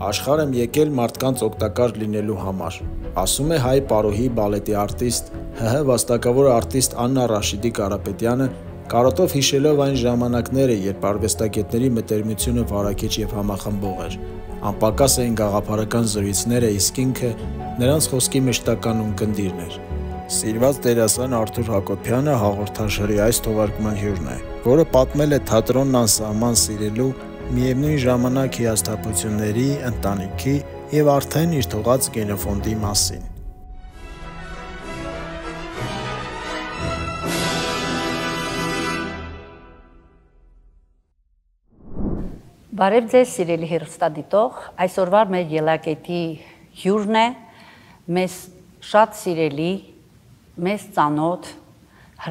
Աշխարհ եմ եկել մարդկանց օգտակար լինելու համար, ասում է հայ պարոհի բալետի արտիստ, ՀՀ վաստակավոր արտիստ Աննա Ռաշիդի Կարապետյանը, կարոտով հիշելով այն ժամանակները, երբ արվեստագետների մտերմությունը վարակիչ և համախմբող էր, անպակաս էին գաղափարական զրույցները, իսկ ինքը նրանց խոսքի մշտական ունկնդիրն էր։ Սիրված դերասան Արթուր Հակոբյանը հաղորդաշարի այս թողարկման հյուրն է, որը պատմել է թատրոնն անսահման սիրելու, միևնույն ժամանակ հիասթափությունների, ընտանիքի և արդեն իր թողած գենոֆոնդի մասին։ Բարև ձեզ, սիրելի հեռուստադիտող, այսօրվա մեր ելակետի հյուրն է մեզ շատ սիրելի, մեզ ծանոթ,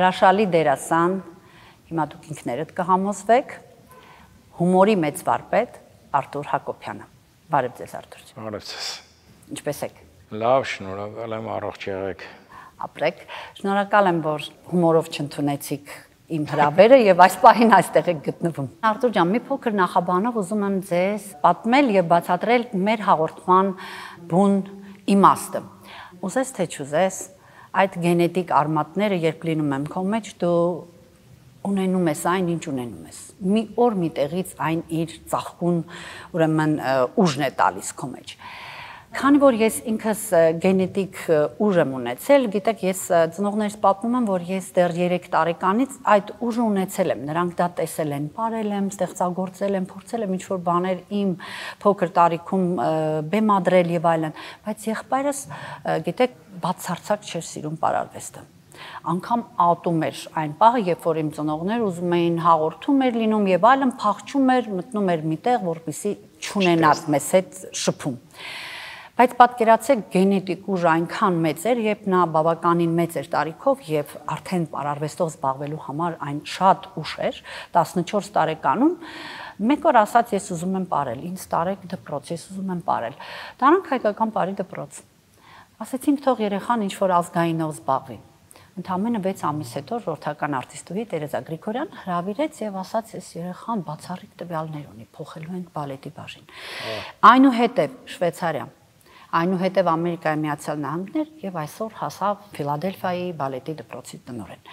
հրաշալի դերասան, հիմա դուք ինքներդ կհամոզվեք, հումորի մեծ վարպետ Արթուր Հակոբյանը։ Բարև ձեզ, Արթուր։ Բարև ձեզ։ Ինչպե՞ս եք։ Լավ, շնորհակալ եմ, առողջ եղեք։ Ապրեք։ Շնորհակալ եմ, որ հումորով չընդունեցիք իմ հրավերը եւ այս պահին այստեղ եք գտնվում։ Արթուր ջան, մի փոքր նախաբանով ուզում եմ ձեզ պատմել եւ բացատրել մեր հաղորդման բուն իմաստը։ Ուզես թե չուզես, այդ գենետիկ արմատները, երբ լինում են քո մեջ, դու ունենում ես այն, ինչ ունենում ես։ Մի օր մի տեղից այն իր ծաղկուն, ուրեմն ուժն է տալիս քո մեջ։ Քանի որ ես ինքս գենետիկ ուժ եմ ունեցել, գիտեք, ես ծնողներս պատմում եմ, որ ես դեռ 3 տարեկանից այդ ուժը ունեցել եմ։ Նրանք դա տեսել են, ապրել եմ, ստեղծագործել եմ, փորձել եմ ինչ-որ բաներ իմ փոքր տարիքում բեմադրել եւ այլն, բայց եղբայրս, գիտեք, բացարձակ չէր սիրում պարարվեստը։ Անգամ ատում էր այն պահը, երբ որ իմ ծնողներ ուզում էին հաղորդում էր լինում եւ այլն, փախչում էր, մտնում էր միտեղ, որպեսզի չունենար մեզ հետ շփում։ Բայց պատկերացեք, գենետիկ ուժը այնքան մեծ էր, երբ նա բավականին մեծ էր տարիքով եւ արդեն պարարվեստով զբաղվելու համար այն շատ ուշ էր, 14 տարեկանում, մեկ օր ասաց, ես ուզում եմ պարել, ինձ տարեք դպրոց, ես ուզում եմ պարել։ Տարանք հայկական պարի դպրոց։ Ասեցինք, թող երեխան ինչ-որ ազգայինով զբաղվի։ Ընդամենը 6 ամիս հետո ժողովրդական արտիստուհի Տերեզա Գրիգորյան հրավիրեց եւ ասաց, ես երեխան բացառիկ տվյալներ ունի, փոխելու ենք բալետի բաժին։ Այնուհետև Շվեյցարիա, այնուհետև Ամերիկայի Միացյալ Նահանգներ եւ այսօր հասավ Ֆիլադելֆիայի բալետի դպրոցի տնօրեն։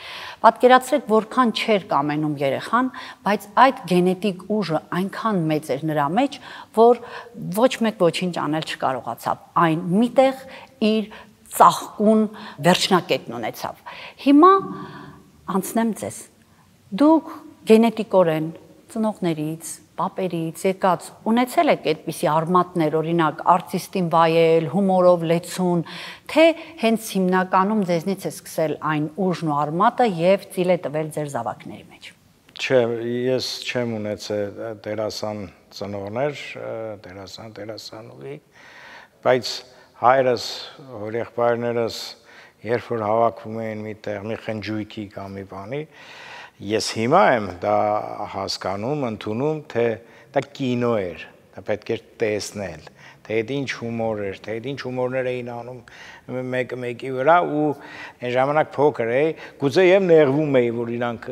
Պատկերացրեք, որքան չէր կամենում երեխան, բայց այդ գենետիկ ուժը այնքան մեծ էր նրա մեջ, որ ոչ մեկ ոչինչ անել չկարողացավ։ Այն միտեղ իր ծաղկուն վերջնակետն ունեցավ։ Հիմա անցնեմ ձեզ։ Դուք գենետիկորեն ծնողներից, պապերից եկած ունեցել եք այդպիսի արմատներ, օրինակ արտիստին վայել, հումորով լեցուն, թե հենց հիմնականում ձեզնից է սկսել այն ուժն ու արմատը եւ ծիլ է տվել ձեր զավակների մեջ։ Չէ, ես չեմ ունեցել դերասան ծնողներ, դերասանուհի, բայց հայրս, եղբայրներս, երբ որ հավաքվում էին միտեղ մի խնջույքի կամ մի բանի, ես հիմա եմ դա հասկանում, ընդունում, թե դա կինո էր, դա պետք էր տեսնել, թե այդ ինչ հումոր էր, թե այդ ինչ հումորներ էին անում մեկը մեկի վրա ու այն ժամանակ փոքր էի, գուցե եւ նեղվում էի, որ իրանք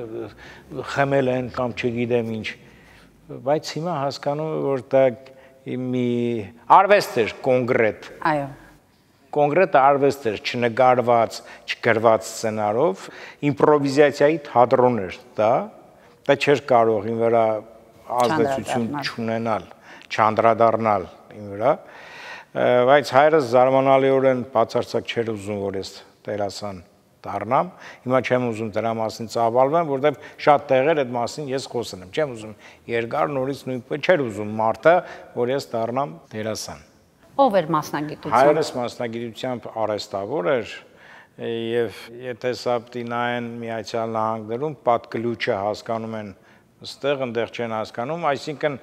խմել են կամ չգիտեմ ինչ, բայց հիմա հասկանում եմ, որ դա մի արվեստ էր կոնկրետ։ Այո։ Կոնկրետ արվեստ էր, չնկարված, չգրված սցենարով, իմպրովիզացիայի թատրոն էր դա չէր կարող իմ վրա ազդեցություն չունենալ, չանդրադառնալ իմ վրա, բայց հայրս զարմանալիորեն բացարձակ չէր ուզում, որ ես դերասան դառնամ, հիմա չեմ ուզում դրա մասին ծավալվեմ, որտեղ շատ տեղեր այդ մասին ես խոսել եմ, չեմ ուզում երկար նորից նույնպես չէր ուզում մարդը, որ ես դառնամ դերասան։ Ով էր մասնագիտությամբ։ Հայրս մասնագիտությամբ արհեստավոր էր եւ եթե սա նայեն Միացյալ Նահանգներում պատկլուչը հասկանում են այստեղ այնտեղ չեն հասկանում, այսինքն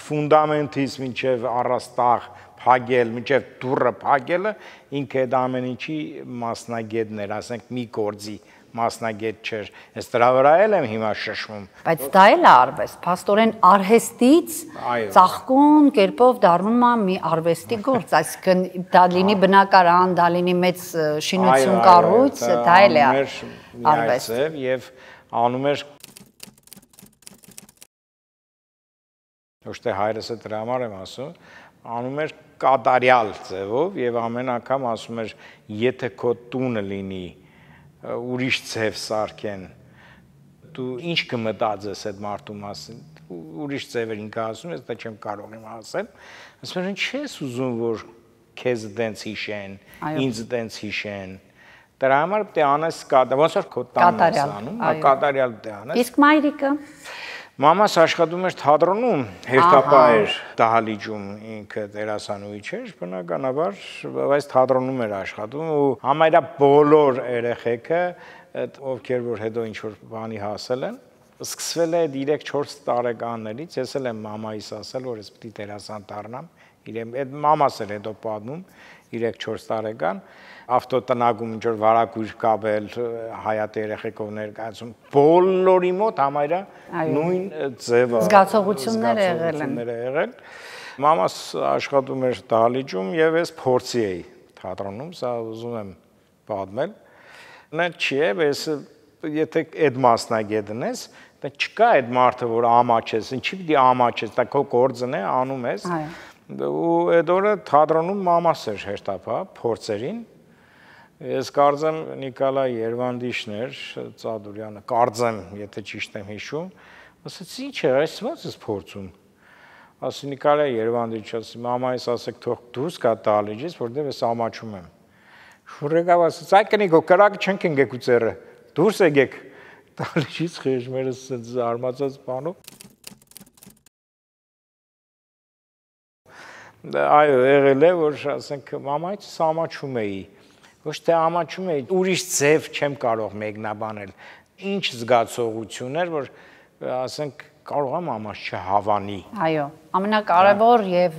ֆունդամենտից մինչև առաստաղ փագել, մինչև դուռը փագելը ինքը այդ ամեն ինչի մասնագետն էր, ասենք մի գործի մասնագետ չէր, ես դրա վրա եմ հիմա շշմում։ Բայց դա էլ է արվեստ, փաստորեն արհեստից ծաղկուն կերպով դառնում է մի արվեստի գործ, այսինքն դա լինի բնակարան, դա լինի մեծ շինություն կառույց, դա էլ է արվեստ։ Եվ անում էր ոչ թե հայրս է դրա համար եմ ասում, անում էր կատարյալ ձևով եւ ամեն անգամ ասում էր եթե քո տունը լինի ուրիշ ձև սարքեն դու ինչ կմտածես այդ մարդու մասին ուրիշ ձևեր ինքը ասում ես դա չեմ կարող իմ ասել ասում են չես ուզում որ քեզ դենց հիշեն ինձ դենց հիշեն դրա համար պետք է անես ոնց որ քո տանն ես անում կատարյալ պետք է անես իսկ մայրիկը Մամաս աշխատում էր թատրոնում, հերթապահ էր դահլիճում, ինքը դերասանուհի չէր, բնականաբար, բայց թատրոնում էր աշխատում ու համարյա բոլոր երեխեքը, ովքեր որ հետո ինչ-որ բանի հասել են, սկսվել է 3-4 տարեկաններից, ես էլ եմ մամայիս ասել, որ ես պետք է դերասան դառնամ, այդ մամաս էր հետո պատմում 3-4 տարեկան, ավտոտնագում ինչ-որ վարակույր կապել, հայատի երեխեքով ներկայացում, բոլորի մոտ համարյա նույն ձևը զգացողություններ եղել։ Մամաս աշխատում էր դահլիճում եւ ես փորձի էի թատրոնում, սա ուզում եմ պատմել։ Նա չի է, ես եթե այդ մասնագետն ես, դա չկա այդ մարդը, որ ամաչես, ինչի՞ պիտի ամաչես, դա քո գործն է, անում ես։ Ու այդ օրը թատրոնում մամաս էր հերթապահ փորձերին Ես կարծեմ Նիկոլայ Երվանդիշն էր, Ծադուրյանը, կարծեմ, եթե ճիշտ եմ հիշում, ասաց ինչ է, այս ո՞նց ես փորձում։ Ասի Նիկոլայ Երվանդիշ, ասի մամայիս ասեք թող դուրս գա դահլիճից, որտեղ ես ամաչում եմ։ Շուրեգավ ասաց, այ կնիկո, կրակը չենք ընկեք ու ծերը, դուրս եկեք դահլիճից խեժմերս զարմացած բանով։ Այո, եղել է, որ ասենք մամայից ամաչում էի։ Ոչ թե ամաչում էի, ուրիշ ձև չեմ կարող մեկնաբանել, ինչ զգացողություն էր, որ ասենք կարող եմ ամաչ չհավանի։ Այո, ամենակարևոր եւ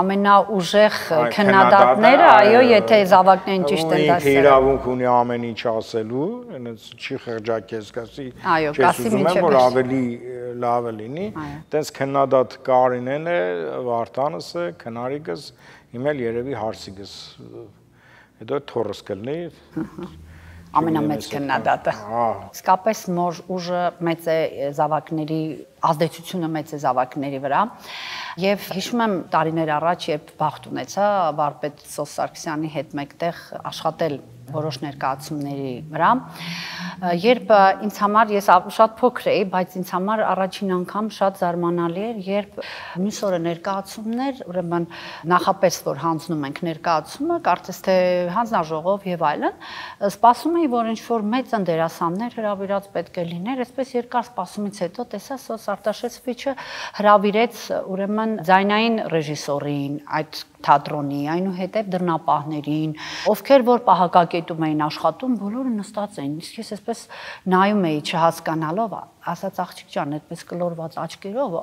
ամենաուժեղ քննադատները, այո, եթե զավակներին ճիշտ են դասել։ Ինքը իրավունք ունի ամեն ինչ ասելու, այնց չի խղճակես, ասի, չես ուզում եմ, որ ավելի լավը լինի, տենց քննադատ Կարինեն է, Վարդանս է, քնարիկս, իմ էլ երևի հարսիկս Հետո թորս կլնի ամենամեծ քննադատը։ Իսկապես նոր ուժը մեծ է զավակների ազդեցությունը մեծ է զավակների վրա եւ հիշում եմ տարիներ առաջ երբ բախտ ունեցա վարպետ Սոս Սարգսյանի հետ մեկտեղ աշխատել որոշ ներկայացումների վրա երբ ինձ համար ես շատ փոքր էի բայց ինձ համար առաջին անգամ շատ զարմանալի էր երբ մյուս օրը ներկայացումներ ուրեմն նախապես որ հանձնում ենք ներկայացումը կարծես թե հանձնաժողով եւ այլն սպասում էի որ ինչ որ մեծ դերասաններ հրավիրած պետք է լիներ այսպես երկար սպասումից հետո տեսա Սոս Արտաշեսովիչը հրավիրեց ուրեմն ձայնային ռեժիսորին այդ թատրոնի, այնուհետև դռնապահներին, ովքեր որ պահակակետում էին աշխատում, բոլորը նստած էին։ Իսկ ես այսպես նայում էի չհասկանալով, ասաց աղջիկ ջան, այդպես կլորված աչքերով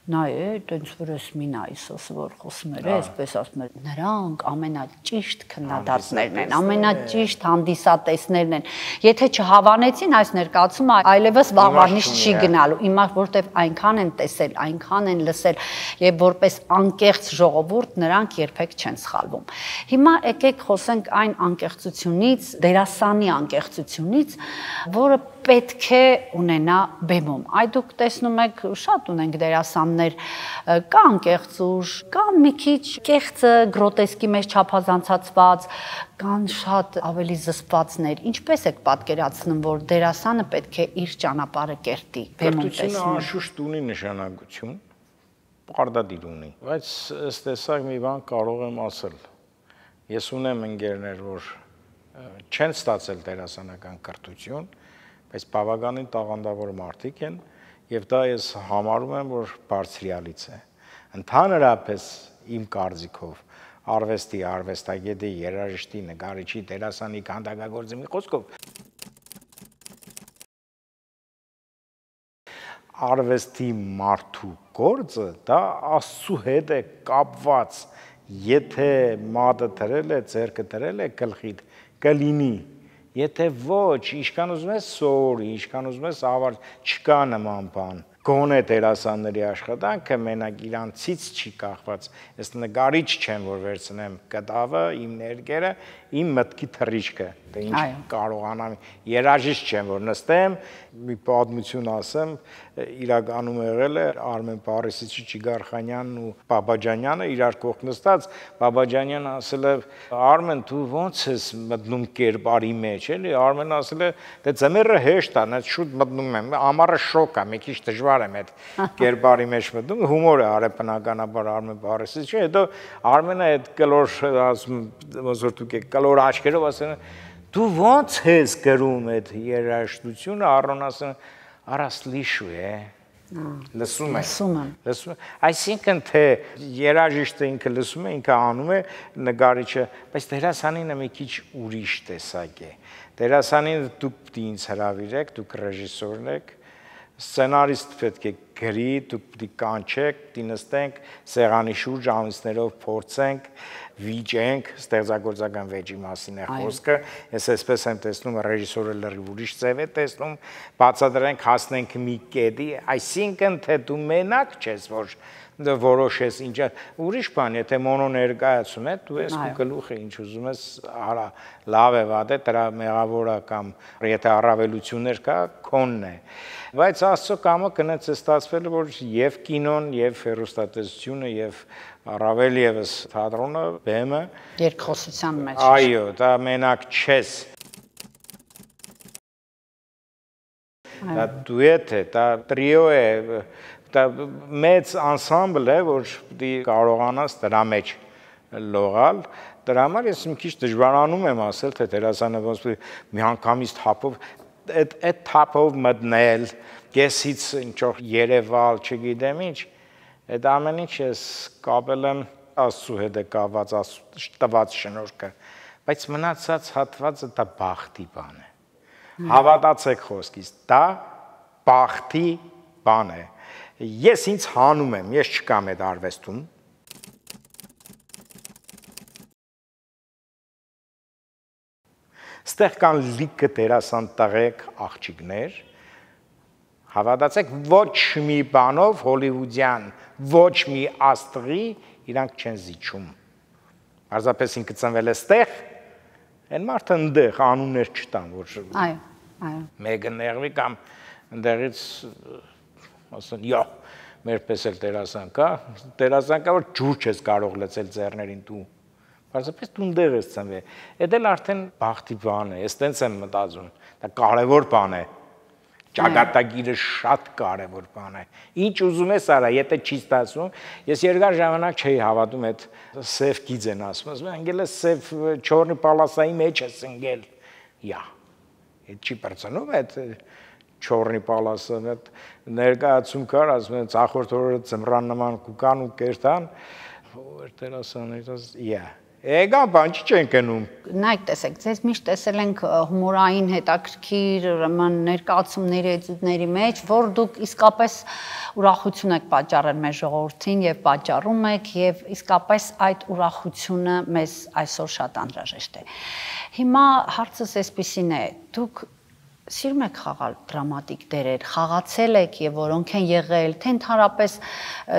նայե, տենց որ ես մի նայ Սոսը որ խոսում էր, այսպես ասում էր, նրանք ամենաճիշտ քննադատներն են, ամենաճիշտ հանդիսատեսներն են։ Եթե չհավանեցին այս ներկայացումը, այլևս վաղվանից չի գնալու, հիմա որտեվ այնքան են տեսել, այնքան են լսել, եւ որպես անկեղծ ժողովուրդ նրանք երբեք չեն սխալվում։ Հիմա եկեք խոսենք այն անկեղծությունից, դերասանի անկեղծությունից, որը պետք է ունենա բեմում։ Այ դուք տեսնում եք շատ ունենք դերասաններ, կա անկեղծուժ, կա մի քիչ կեղծը գրոտեսկի մեջ չափազանցացված, կան շատ ավելի զսպվածներ։ Ինչպես եք պատկերացնում, որ դերասանը պետք է իր ճանապարհը կերտի բեմում տեսնում։ Կրթությունը անշուշտ ունի նշանակություն, պարտադիր ունի, բայց ըստ տեսակ մի բան կարող եմ ասել։ Ես ունեմ ընկերներ, որ չեն ստացել դերասանական կրթություն, բայց բավականին տաղանդավոր մարդիկ են եւ դա ես համարում եմ որ բարձրյալից է ընդհանրապես իմ կարծիքով արվեստի արվեստագետի երաժշտի նկարիչի դերասանի քանդակագործի մի խոսքով արվեստի մարդու գործը դա Աստծո հետ է կապված եթե մատը դրել է ձեռքը դրել է գլխիդ կլինի Եթե ոչ, ինչքան ուզում ես սորի, ինչքան ուզում ես ավար, չկա նման բան։ գոնե դերասանների աշխատանքը մենակ իրանցից չի կախված։ Ես նկարիչ չեմ, որ վերցնեմ կտավը, իմ ներկերը, իմ մտքի թռիչքը, թե ինչ կարողանամ։ Երաժիշտ չեմ, որ նստեմ, մի պատմություն ասեմ, իրականում եղել է Արմեն Պարիսիչի, Չիգարխանյանն ու Բաբաջանյանը իրար կողք նստած, Բաբաջանյանը ասել է. «Արմեն, դու ո՞նց ես մտնում կերպարի մեջ, էլի»։ Արմենը ասել է. «Դե ձմեռը հեշտ է, ես շուտ մտնում եմ, ամառը շոկ է, մի քիչ դժվար եմ այդ կերպարի մեջ մտնում»։ Հումոր է արել բնականաբար Արմեն Պարիսիչը, հետո Արմենը այդ կլոր, ասում ոնց որ դուք եք կլոր աչքերով ասել են. «Դու ո՞նց ես գրում այդ երաժշտությունը»։ Առոն ասել են. «Արա սլիշու է»։ Լսում եմ։ Այսինքն թե երաժիշտը ինքը լսում է, ինքը անում է, նկարիչը, բայց դերասանինը մի քիչ ուրիշ տեսակ է։ Դերասանին դուք պիտի ինձ հրավիրեք, դուք ռեժիսորն եք, սցենարիստ պետք է գրի, դուք պիտի կանչեք, պիտի նստենք սեղանի շուրջ ամիսներով փորձենք, վիճենք, ստեղծագործական վեճի մասին է խոսքը։ Ես այսպես եմ տեսնում, ռեժիսորը լրիվ ուրիշ ձև է տեսնում, բացատրենք, հասնենք մի կետի, այսինքն թե դու մենակ չես, որ որոշես ինչա, ուրիշ բան, եթե մոնո ներկայացում է, դու ես քո գլուխը ինչ ուզում ես, արա, լավ է, վատ է, դրա մեղավորը կամ եթե առավելություններ կա, քոնն է։ Բայց Աստծո կամը կնեց է ստացվել, որ եւ կինոն, եւ հեռուստատեսությունը, եւ առավել եւս թատրոնը, բեմը երկխոսության մեջ։ Այո, դա մենակ չես։ Դա դուետ է, դա տրիո է, դա մեծ անսամբլ է, որ պիտի կարողանաս դրա մեջ լողալ։ Դրա համար ես մի քիչ դժվարանում եմ ասել, թե դերասանը ոնց միանգամից թափով այդ թափով մտնել, կեսից ինչ-որ երևալ, չգիտեմ ինչ, այդ ամեն ինչ ես կապել եմ Աստծու հետ է կապված, տված շնորհքը, բայց մնացած հատվածը դա բախտի բան է։ Հավատացեք խոսքից, դա բախտի բան է։ Ես ինձ հանում եմ, ես չկամ այդ արվեստում։ Ստեղ կան լիքը դերասան տղեկ աղջիկներ, հավատացեք, ոչ մի բանով հոլիվուդյան, ոչ մի աստղի իրանք չեն զիջում։ Պարզապես ինքը ծնվել է ստեղ, այն մարդը ընդեղ անուններ չտան, որ մեկը նեղվի կամ ընդեղից ասեն, «Յո, մեր պես էլ դերասան կա, որ ջուր չես կարող լցել ձեռներին դու»։ Պարզապես դու ընդեղ ես ծնվել։ Էդ էլ արդեն բախտի բան է, ես տենց եմ մտածում, դա կարևոր բան է։ Ճակատագիրը շատ կարևոր բան է։ Ինչ ուզում ես արա, եթե չի ստացվում, ես երկար ժամանակ չէի հավատում այդ սև գիծեն ասում, ընկել է սև չորնի պալասայի մեջ ես ընկել։ Յա։ Այդ չի բրծնում այդ չորնի պալասը, այդ ներկայացում կար, ասում են ցախորդ օրը ծմրան նման կուկան ու կերտան, ով դերասաններ, յա։ Էգան բան չեն կնում։ Նայեք, տեսեք, ձեզ միշտ տեսել ենք հումորային հետաքրքիր, ուրեմն ներկայացումների էտյուդների մեջ, որ դուք իսկապես ուրախություն եք պատճառել մեր ժողովրդին եւ պատճառում եք եւ իսկապես այդ ուրախությունը մեզ այսօր շատ անհրաժեշտ է։ Հիմա հարցս այսպեսին է. դուք սիրում եք խաղալ դրամատիկ դերեր, խաղացել եք եւ որոնք են եղել, թե ընդհանրապես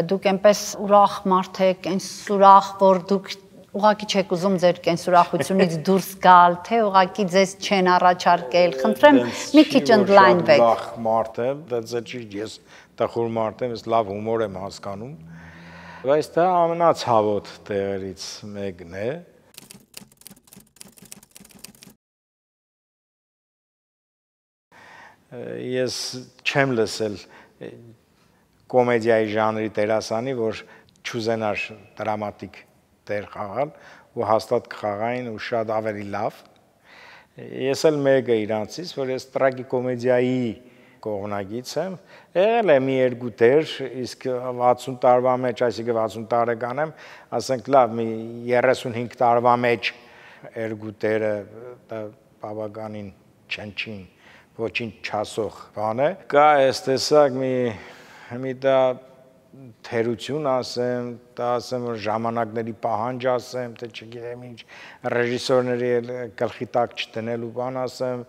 դուք այնպես ուրախ մարդ եք, այնս ուրախ, որ դուք ուղղակի չեք ուզում ձեր կենսուրախությունից դուրս գալ, թե ուղղակի ձեզ չեն առաջարկել, խնդրեմ մի քիչ ընդլայնվեք։ Լավ մարդ եմ, դա չի, ես տխուր մարդ եմ, ես լավ հումոր եմ հասկանում, բայց դա ամենացավոտ տեղերից մեկն է։ Ես չեմ լսել կոմեդիայի ժանրի դերասանի, որ չուզենար դրամատիկ դեր խաղալ ու հաստատ կխաղային ու շատ ավելի լավ։ Ես էլ մեկը իրանցից, որ ես տրագիկոմեդիայի կողմնակից եմ, եղել է մի երկու դեր, իսկ 60 տարվա մեջ, այսինքն 60 տարեկան եմ, ասենք լավ, մի 35 տարվա մեջ երկու դերը բավականին չնչին, ոչինչ չասող բան է։ Կա այս տեսակ մի դա թերություն ասեմ, դա ասեմ, որ ժամանակների պահանջ ասեմ, թե չգիտեմ ինչ, ռեժիսորների գլխի տակ չտնելու բան ասեմ,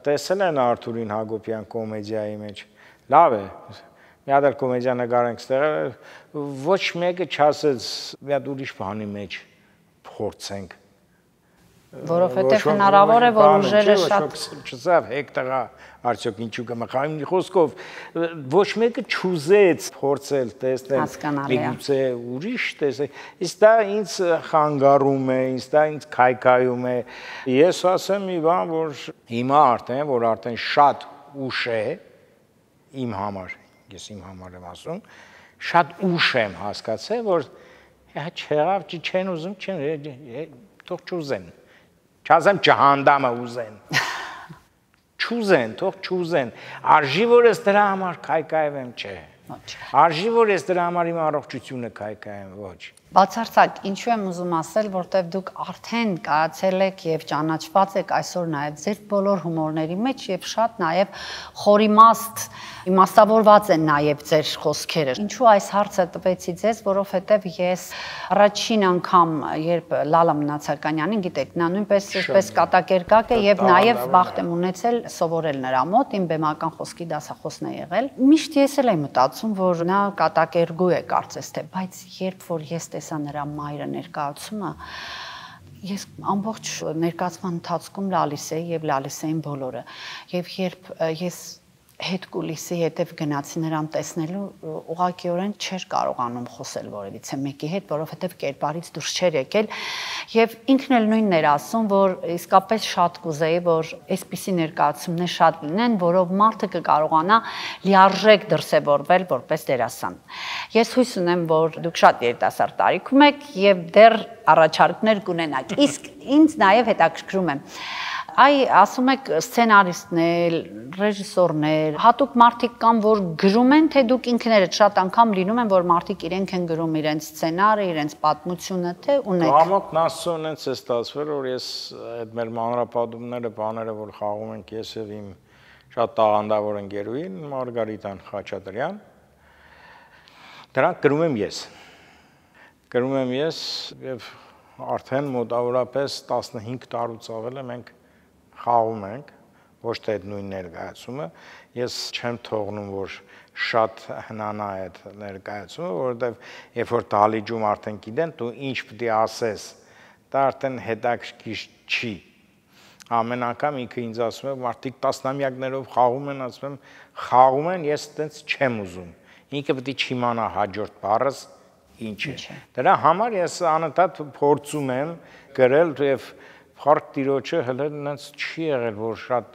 տեսել են Արթուրին Հակոբյան կոմեդիայի մեջ, լավ է, մի հատ կոմեդիա նկարենք ստեղ, ոչ մեկը չասեց մի հատ ուրիշ բանի մեջ փորձենք։ Որովհետև հնարավոր է, որ ուժերը շատ չսավ հեկտեղա արդյոք ինչու կմխայում մի խոսքով ոչ մեկը չուզեց փորձել տեսնել միգուցե ուրիշ տեսել իսկ դա ինձ խանգարում է ինձ դա ինձ քայքայում է ես ասեմ մի բան որ հիմա արդեն շատ ուշ է իմ համար ես իմ համար եմ ասում շատ ուշ եմ հասկացել որ չեղավ չեն ուզում թող չուզեն Չասեմ չհանդամը ուզեն, չուզեն, թող չուզեն, արժի որ ես դրա համար կայկայվեմ չէ, արժի որ ես դրա համար իմ առողջությունը կայկայեմ ոչ Բացարձակ, ինչու եմ ուզում ասել, որտեվ դուք արդեն կարացել եք եւ ճանաչված եք այսօր նաեւ ձեր բոլոր հումորների մեջ եւ շատ նաեւ խորիմաստ իմաստավորված են նաեւ ձեր խոսքերը։ Ինչու այս հարցը տվեցի ձեզ, որովհետեւ ես առաջին անգամ, երբ Լալա Մնացականյանին, գիտեք, նա նույնպես այսպես կատակերգակ է եւ նաեւ բախտ եմ ունեցել սովորել նրա մոտ, իմ բեմական խոսքի դասախոսն է եղել։ Միշտ ես էլ եմ մտածում, որ նա կատակերգու է կարծես թե, բայց երբ որ ես տեսա նրա մայրը ներկայացումը ես ամբողջ ներկայացման ընթացքում լալիս էի եւ լալիս էին բոլորը եւ երբ ես հետ կուլիսի հետև գնացի նրան տեսնելու ուղղակիորեն չէր կարողանում խոսել որևիցե մեկի հետ, որովհետև կերպարից դուրս չէր եկել եւ ինքն էլ նույնն էր ասում, որ իսկապես շատ կուզեի, որ այսպիսի ներկայացումներ շատ լինեն, որով մարդը կկարողանա լիարժեք դրսևորվել որպես դերասան։ Ես հույս ունեմ, որ դուք շատ երիտասարդ տարիքում եք եւ դեռ առաջարկներ կունենաք։ Իսկ ինձ նաեւ հետաքրքրում է Այ ասում եք սցենարիստներ, ռեժիսորներ, հատուկ մարդիկ կան, որ գրում են, թե դուք ինքներդ շատ անգամ լինում են, որ մարդիկ իրենք են գրում իրենց սցենարը, իրենց պատմությունը, թե ունեք։ Ամոք նասոն են ցես ստացվել, որ ես այդ մեր մանրապատումները, բաները, որ խաղում ենք ես եւ իմ շատ տաղանդավոր ընկերուհին Մարգարիտան Խաչատրյան, դրանք գրում եմ ես։ Գրում եմ ես եւ արդեն մոտավորապես 15 տարուց ավել է մենք խաղում ենք, ոչ թե այդ նույն ներկայացումը, ես չեմ թողնում, որ շատ հնանա այդ ներկայացումը, որովհետև երբ որ դալիճում արդեն գիտեն, դու ինչ պետք է ասես, դա արդեն հետաքրքիր չի։ Ամեն անգամ ինքը ինձ ասում է, մարդիկ տասնամյակներով խաղում են, ասում եմ, խաղում են, ես այդպես չեմ ուզում։ Ինքը պետք է չիմանա հաջորդ բառս ինչ է։ Դրա համար ես անընդհատ փորձում եմ գրել եւ Խարկ տիրոջը հələ նենց չի եղել, որ շատ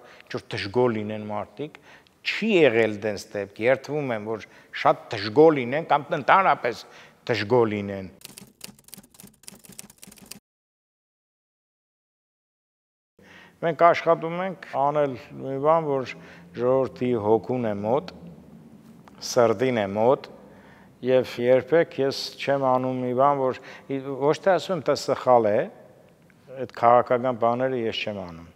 դժգոհ լինեն մարդիկ, չի եղել դենց դեպք, երդվում եմ, որ շատ դժգոհ լինեն կամ ընդհանրապես դժգոհ լինեն։ Մենք աշխատում ենք անել մի բան, որ ժողովրդի հոգուն է մոտ, սրտին է մոտ, եւ երբեք ես չեմ անում մի բան, որ ոչ թե ասում եմ, դա սխալ է, այդ քաղաքական բաները ես չեմ անում։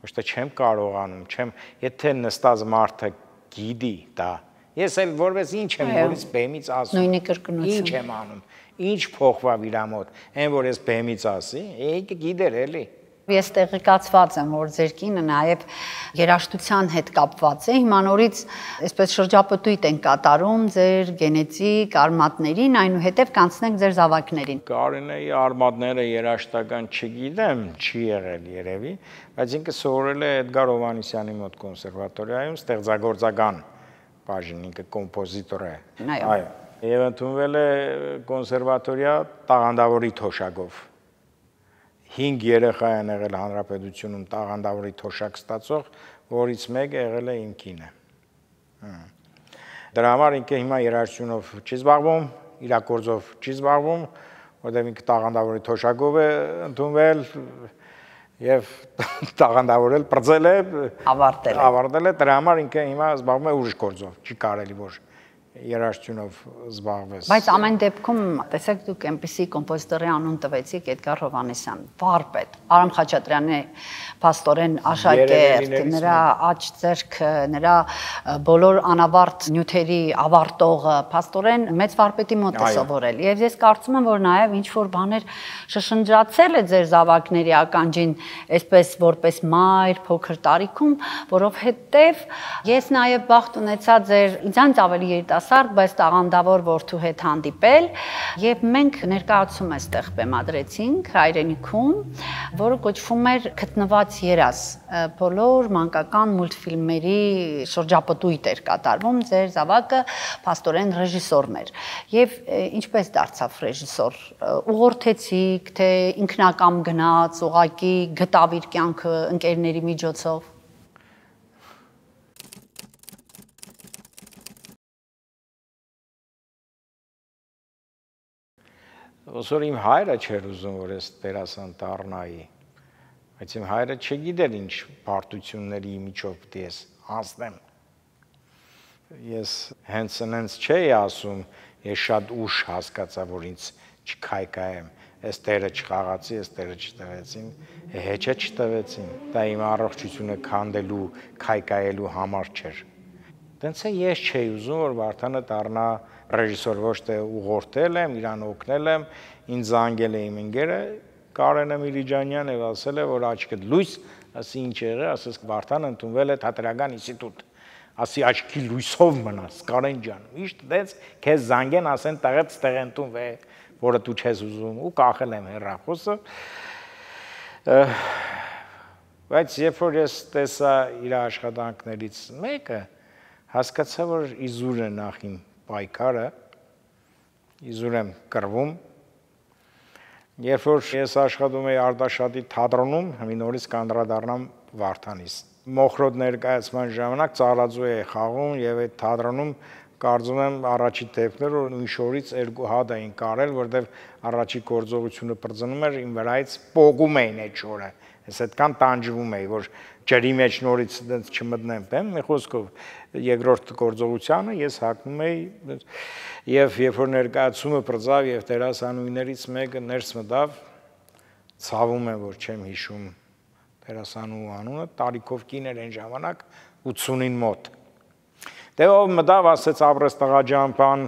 Ոչ թե չեմ կարողանում, եթե նստած մարդը գիտի դա։ Ես էլ որպես ինչ եմ որից բեմից ասում։ Նույնի կրկնություն։ Ինչ եմ անում։ Ինչ փոխվավ իր մոտ։ Այն որ ես բեմից ասի, եկե գիտեր էլի։ Ես տեղեկացված եմ, որ ձեր կինը նաև երաժշտության հետ կապված է, հիմա նորից այսպես շրջապտույտ են կատարում ձեր գենետիկ արմատներին, այնուհետև կանցնենք ձեր զավակներին։ Կարինեի արմատները երաժշտական չգիտեմ, չի եղել երևի, բայց ինքը սովորել է Էդգար Հովհաննիսյանի մոտ կոնսերվատորիայում ստեղծագործական բաժին, ինքը կոմպոզիտոր է։ Այո։ Եվ ընդունվել է կոնսերվատորիա տաղանդավորի թոշակով։ 5 երեխա են եղել հանրապետությունում տաղանդավորի թոշակ ստացող, որից մեկը եղել է իմ կինը։ Դրա համար ինքը հիմա երաժշտությունով չի զբաղվում, իրագործով չի զբաղվում, որտեղ ինքը տաղանդավորի թոշակով է ընդունվել եւ տաղանդավորել, պրծել է, ավարտել է, դրա համար ինքը հիմա զբաղվում է ուրիշ գործով, չի կարելի որ երաժշտությունով զբաղվես։ Բայց ամեն դեպքում, տեսեք, դուք այնպիսի կոմպոզիտորի անուն տվեցիք Էդգար Հովհաննիսյան, վարպետ, Արամ Խաչատրյանի փաստորեն աշակերտ, նրա աջ ձեռքը, նրա բոլոր անավարտ նյութերի ավարտողը, փաստորեն մեծ վարպետի մոտ է սովորել։ Եվ ես կարծում եմ, որ նաև ինչ որ բաներ շշնջացել է ձեր զավակների ականջին, այսպես որպես մայր փոքր տարիքում, որովհետև ես նաև բախտ ունեցա ձեր ինձանից ավելի երիտասարդ, բայց տաղանդավոր որդու հետ հանդիպել, եւ մենք ներկայացում այստեղ բեմադրեցինք հայրենիքում, որը կոչվում էր Գտնված երազ, բոլոր մանկական մուլտֆիլմերի շրջապտույտ էր կատարվում, ձեր զավակը փաստորեն ռեժիսորն էր։ Եվ ինչպես դարձավ ռեժիսոր, ուղղորդեցիք, թե ինքնակամ գնաց, ուղակի գտավ իր կյանքը ընկերների միջոցով։ Ոսոր իմ հայրը չէր ուզում, որ ես դերասան դառնայի, բայց իմ հայրը չգիտեր ինչ բարդությունների միջով պիտի ես անցնեմ։ Ես հենց այնց չէի ասում, ես շատ ուշ հասկացա, որ ինձ չքայքայեմ, ես տերը չխաղացի, ես տերը չտվեցին, հեչը չտվեցին, դա իմ առողջությունը քանդելու, քայքայելու համար չէր։ Դենց է ես չէի ուզում, որ Վարդանը դառնա ռեժիսոր, ոչ թե ուղղորդել եմ, իրան օգնել եմ, ինձ զանգել է իմ ընկերը Կարենը Միրիջանյան եւ ասել է, որ աչքդ լույս, ասի ինչ եղել, ասես Վարդանը ընդունվել է Թատրական ինստիտուտ, ասի աչքի լույսով մնաս, Կարեն ջան, միշտ դες քեզ զանգեն, ասեն տղեც տեղ ընդունվել, որը դու չես ուզում ու կախել եմ հեռախոսը։ Բայց երբ որ ես տեսա իր աշխատանքներից մեկը, հասկացա, որ իզուր է նախ իմ պայքարը, իզուր եմ կռվում։ Երբ որ ես աշխատում էի Արտաշատի թատրոնում, մի նորից կանդրադառնամ Վարդանիս։ Մոխրոտ ներկայացման ժամանակ ծառաձու էի խաղում եւ այդ թատրոնում կարծում եմ առաջի դեպքեր որ նույն շորից 2 հատ էին կարել, որտեվ առաջի գործողությունը բրձնում էր իմ վրայից պոգում էին այդ շորը։ Ես այդքան տանջվում էի, որ ջրի մեջ նորից դից չմտնեմ, բեմ, մի խոսքով երկրորդ գործողությանը ես հագնում էի եւ երբ որ ներկայացումը բրձավ եւ դերասանուհիներից մեկը ներս մտավ, ցավում եմ, որ չեմ հիշում դերասանուհու անունը, տարիքով կին էր այն ժամանակ 80-ին մոտ։ Դե ով մտավ, ասեց ապրես տղա ջան, բան,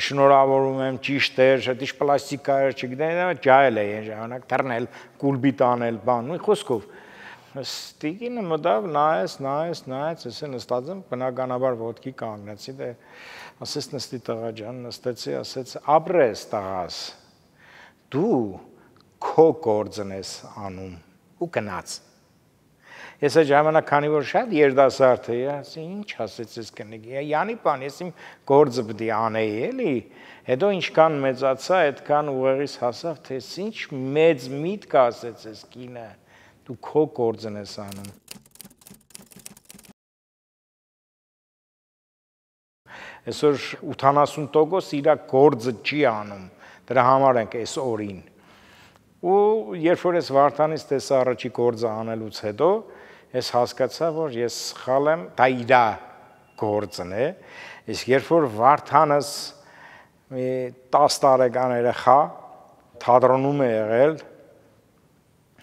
շնորհավորում եմ, ճիշտ էր, դա ինչ պլաստիկա էր, չգիտեմ, ջահել է այն ժամանակ, թռնել, կուլբիտ անել, բան, մի խոսքով։ Ստիգինը մտավ, նայեց, ես նստած եմ, բնականաբար ոտքի կանգնեցի, դե ասեց նստի տղա ջան, նստեցի, ասեց ապրես տղաս, դու քո գործն ես անում ու գնաց։ Ես այդ ժամանակ քանի որ շատ երդասարդ էի, ասի ինչ ասեց ես կնիկի, Յանի բան, ես իմ գործը պիտի անեի, էլի, հետո ինչքան մեծացա, այդքան ուղեղիս հասավ, թե ինչ մեծ միտք ասեց ես կինը, դու քո գործն ես անում։ Այսօր 80% իր գործը չի անում, դրա համար ենք այս օրին։ Ու երբ որ ես Վարդանից տեսա առաջի գործը անելուց հետո, ես հասկացա, որ ես սխալ եմ, դա իր գործն է, իսկ երբ որ Վարդանս մի 10 տարեկան երեխա թատրոնում է եղել,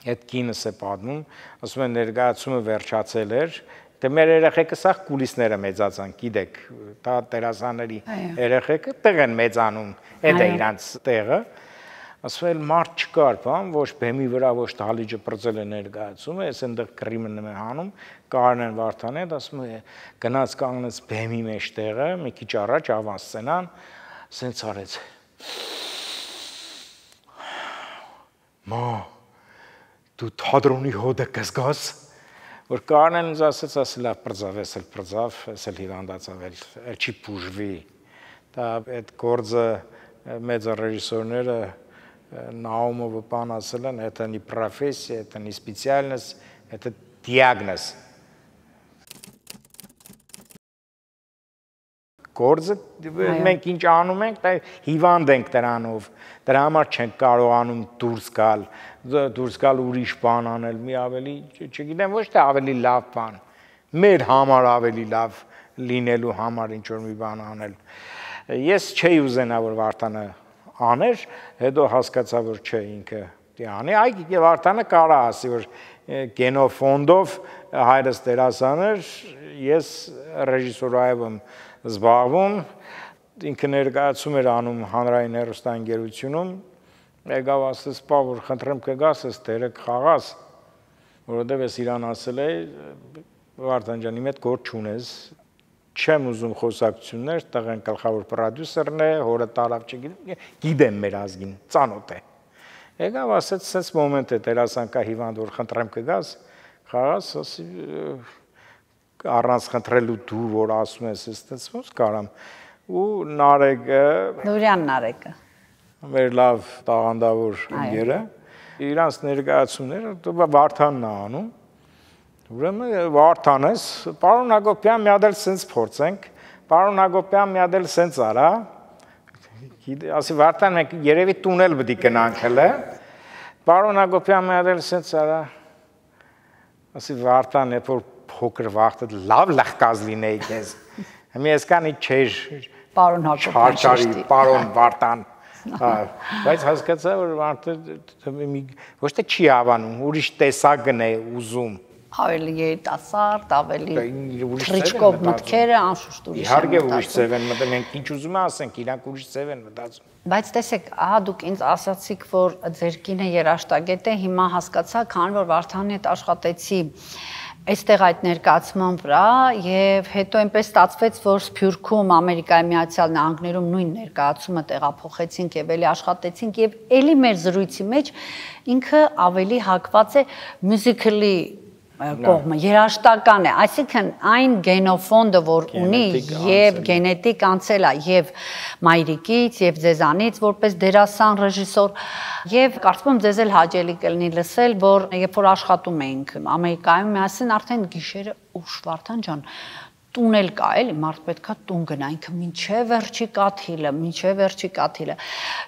այդ կինս է պատմում, ասում են ներկայացումը վերջացել էր, դե մեր երեխեքը սա կուլիսները մեծացան, գիտեք, դա դերասանների երեխեքը տեղ են մեծանում, այդ է իրանց տեղը, ասում էլ մարդ չկար, բան, ոչ բեմի վրա, ոչ դահլիճը բրձել է ներկայացումը, ես այնտեղ կռիմն եմ հանում, Կարեն Վարդան է, ասում է գնաց կանգնեց բեմի մեջ տեղը, մի քիչ առաջ ավանսցենան, սենց արեց։ Մա, դու թատրոնի հոդը կզգաս, որ Կարենն ինձ ասեց, ասի լավ բրձավ, ես էլ հիվանդացավ, էլ չի բուժվի։ Դա այդ գործը մեծ ռեժիսորները Наумова пан ասել, это не профессия, это не специальность, это диагноз. Գործը մենք ինչ անում ենք, դա հիվանդ ենք դրանով, դրա համար չենք կարողանում դուրս գալ ուրիշ բան անել, մի ավելի, չգիտեմ, ոչ թե ավելի լավ բան, մեր համար ավելի լավ լինելու համար ինչ որ մի բան անել։ Ես չէի ուզենա որ Վարդանը աներ, հետո հասկացա որ չէ ինքը դիանի, այ Վարդանը կարա ասի որ գենոֆոնդով հայրս դերասան էր, ես ռեժիսորայով եմ զբաղվում, ինքը ներկայացում էր անում հանրային հեռուստաընկերությունում, եկավ ասես, «Պա որ խնդրեմ կգաս, ես դերը կխաղաս», որովհետև ես իրան ասել էի, Վարդան ջան, իմ հետ գործ չունես, չեմ ուզում խոսակցություններ, տղեն գլխավոր պրոդյուսերն է, հորը տարավ գիտեմ մեր ազգին, ծանոթ է։ Եկավ ասեց, սենց մոմենտ է դերասան կա հիվանդ, որ խնդրեմ կգաս, խաղաս, ասի առանց խնդրելու դու, որ ասում ես, ես ոնց կարամ, ու Նարեկը, Նուրյան Նարեկը, մեր լավ տաղանդավոր ընկերը, իրանց ներկայացումները Վարդանն է անում, ուրեմն Վարդան ես, պարոն Հակոբյան մի հատ էլ սենց փորձենք, պարոն Հակոբյան մի հատ էլ սենց արա, ասի Վարդան մենք երևի տունել պետք է գնանք հələ, պարոն Հակոբյան մի հատ էլ սենց արա, ասի Վարդան երբ որ փոքր վախտը լավ լախկազ լինեի քեզ, հիմա այսքանի չէր, պարոն Հակոբյան, պարոն Վարդան, բայց հասկացա որ Վարդը ոչ թե չի հավանում, ուրիշ տեսակն է ուզում, ավելի երիտասարդ, ավելի թրիչկով մտքերը անշուշտ ուրիշ են մտածում։ Իհարկե ուրիշ ձև են մտածում, մենք ինչ ուզում ասենք, իրանք ուրիշ ձև են մտածում։ Բայց տեսեք, ահա դուք ինձ ասացիք, որ ձեր կինը երաժշտագետ է, հիմա հասկացա, քան որ Վարդանի հետ աշխատեցի այստեղ այդ ներկայացման վրա եւ հետո այնպես ստացվեց, որ Սփյուռքում Ամերիկայի Միացյալ Նահանգներում նույն ներկայացումը տեղափոխեցինք եւ էլի աշխատեցինք եւ էլի մեր զրույցի մեջ ինքը ավելի հակված է մյուզիկլի կողմը, երաժշտական է, այսինքն այն գենոֆոնդը, որ ունի եւ գենետիկ անցել է եւ մայրիկից եւ ձեզանից որպես դերասան, ռեժիսոր եւ կարծում եմ ձեզ էլ հաճելի կլինի լսել, որ երբ որ աշխատում էինք Ամերիկայում միասին արդեն գիշերը ուշ Վարդան ջան տունել կա էլի, մարդ պետքա տուն գնա, ինքը մինչև վերջի կաթիլը,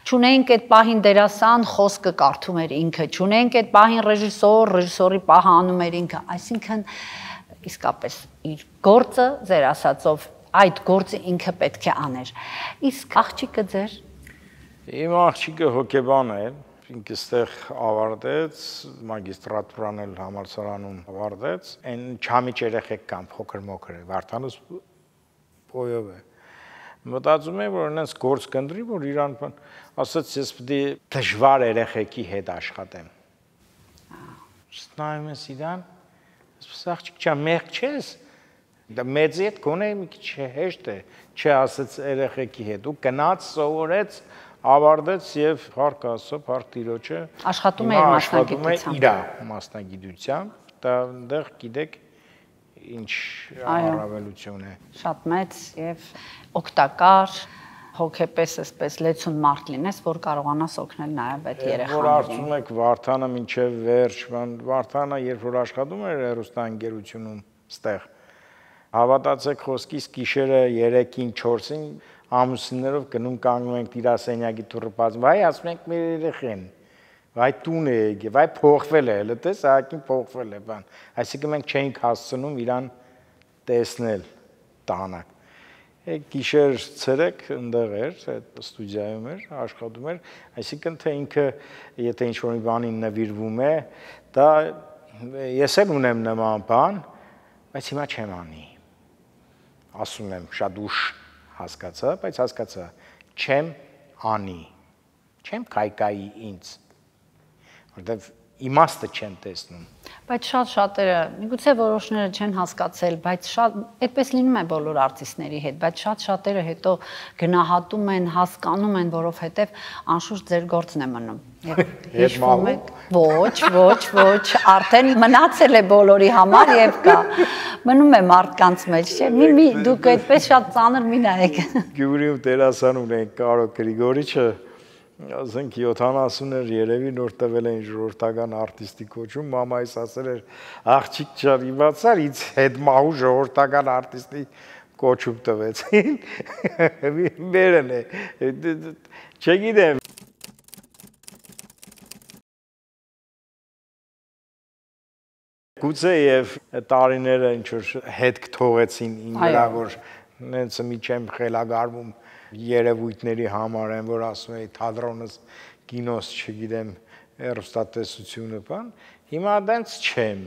չունեինք այդ պահին դերասան, խոսքը կարդում էր ինքը, չունեինք այդ պահին ռեժիսոր, ռեժիսորի պահը անում էր ինքը, այսինքն իսկապես իր գործը, ձեր ասածով, այդ գործը ինքը պետք է աներ, իսկ աղջիկը ձեր? Իմ աղջիկը հոգեբան է, ինքը ստեղ ավարտեց, մագիստրատուրան էլ համալսարանում ավարտեց, այն չամիջ երեխեք կան, փոքր-մոքր է, Վարդանս պոյով է։ Մտածում եմ, որ այնպես գործ կընտրի, որ իրան ասաց, ես պետք է դժվար երեխեքի հետ աշխատեմ։ Նայում ես իրան, ասես աղջիկ ջան, մեղք չես, դա մեծի հետ գոնե մի քիչ հեշտ է, չասեց երեխեքի հետ, ու գնաց սովորեց ավարտեց եւ փառք Աստծո, փառք Տիրոջը աշխատում է մասնագիտությամբ, իր մասնագիտությամբ, դա այնտեղ գիտեք ինչ առավելություն է։ Շատ մեծ եւ օգտակար, հոգեպես էսպես լեցուն մարդ լինես, որ կարողանաս օգնել նաեւ այդ երեխաներին։ Որ արծում եք Վարդանը մինչեւ վերջ, Վարդանը երբ որ աշխատում էր հեռուստաընկերությունում ստեղ, հավատացեք խոսքիս գիշերը 3-ին 4-ին ամուսիններով գնում կանգնում ենք տիրասենյակի դուռը բացում, վայ ասում ենք մեր երեխեն, վայ տուն է եկել, վայ փոխվել է, հələ տես ահագին փոխվել է բան, այսինքն մենք չէինք հասցնում իրան տեսնել տանակ։ Գիշեր ցերեկ ընդեղ էր, այդ ստուդիայում էր, աշխատում էր, այսինքն թե ինքը եթե ինչ-որ մի բանին նվիրվում է, դա ես էլ ունեմ նման բան, բայց հիմա չեմ անի։ Ասում եմ շատ ուշ հասկացա, բայց հասկացա, չեմ անի, չեմ կայկայի ինձ, որտեվ իմաստը չեմ տեսնում։ Բայց շատերը, միգուցե որոշները չեն հասկացել, բայց շատ այդպես լինում է բոլոր արտիստների հետ, բայց շատերը հետո գնահատում են, հասկանում են, որովհետև անշուշտ ձեր գործն է մնում։ Հիշվում եք, ոչ, արդեն մնացել է բոլորի համար եւ կա։ Մնում է մարդկանց մեջ, չէ՞։ Մի դուք այդպես շատ ծանր մի նայեք։ Գյումրիում դերասան ունենք Կարո Գրիգորիչը, ասենք 70-էր երևի նոր տվել էին ժողովրդական արտիստի կոչում, մամայիս ասել էր աղջիկ ջան իմացար ինձ հետ մահու ժողովրդական արտիստի կոչում տվեցին, մերն է, չգիտեմ։ Գուցե եւ տարիները ինչ որ հետ կթողեցին ինձ վրա, որ նենց մի չեմ խելագարվում երևույթների համար են, որ ասում էի թատրոնս, կինոս, չգիտեմ, հեռուստատեսությունը, բան, հիմա դենց չեմ։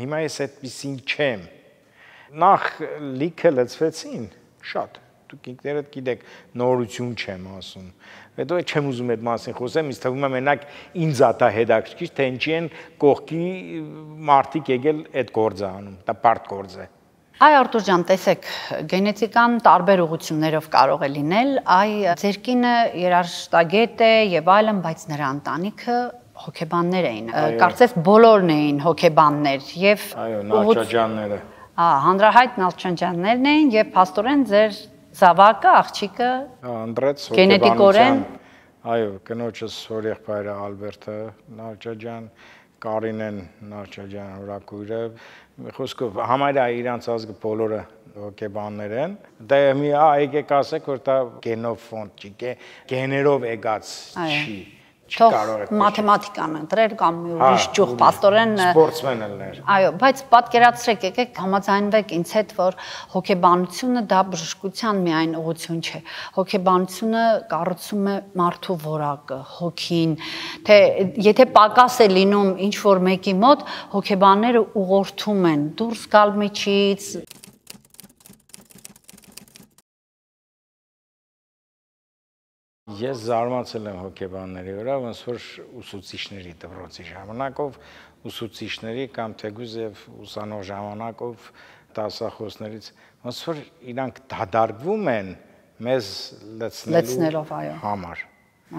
Հիմա ես այդպեսին չեմ։ Նախ լիքը լծվեցին, շատ։ Դուք ինքներդ գիտեք, նորություն չեմ ասում։ Հետո չեմ ուզում այդ մասին խոսեմ, ինձ թվում է մենակ ինձ է դա հետաքրքիր, թե ինչի են կողքի մարդիկ եկել այդ գործը անում, դա բարդ գործ է։ Այ Արտուր ջան, տեսեք, գենետիկան տարբեր ուղղություններով կարող է լինել, այ ձեր կինը երաժշտագետ է եւ այլն, բայց նրա ընտանիքը հոգեբաններ էին։ Կարծես բոլորն էին հոգեբաններ եւ այո, Նալչաջյանները։ Հանրահայտ Նալչաջյաններն էին եւ փաստորեն ձեր զավակը, աղջիկը ընտրեց գենետիկորեն, այո, կնոջս հորեղբայրը Ալբերտը Նալչաջյան, Կարինեն Նալչաջյան հորակույրը, խոսքով համարյա իրանց ազգը բոլորը հոգեբաններ են։ Դա մի եկեք ասեք, որ դա գենով ֆոնդ չի, գեներով եկած չի։ Թող մաթեմատիկան ընտրեր կամ մի ուրիշ ճյուղ, պաստորեն սպորտսմեն ելներ։ Այո, բայց պատկերացրեք, եկեք համաձայնվեք ինձ հետ, որ հոգեբանությունը դա բժշկության միայն ուղղություն չէ։ Հոգեբանությունը կառուցում է մարդու որակը, հոգին, թե եթե պակաս է լինում ինչ որ մեկի մոտ, հոգեբանները ուղղորդում են դուրս գալ միջից։ Ես զարմացել եմ հոգեբանների վրա, ոնց որ ուսուցիչների դպրոցի ժամանակով, ուսուցիչների կամ թեկուզ եւ ուսանող ժամանակով դասախոսներից, ոնց որ իրանք դադարվում են մեզ լցնելով համար։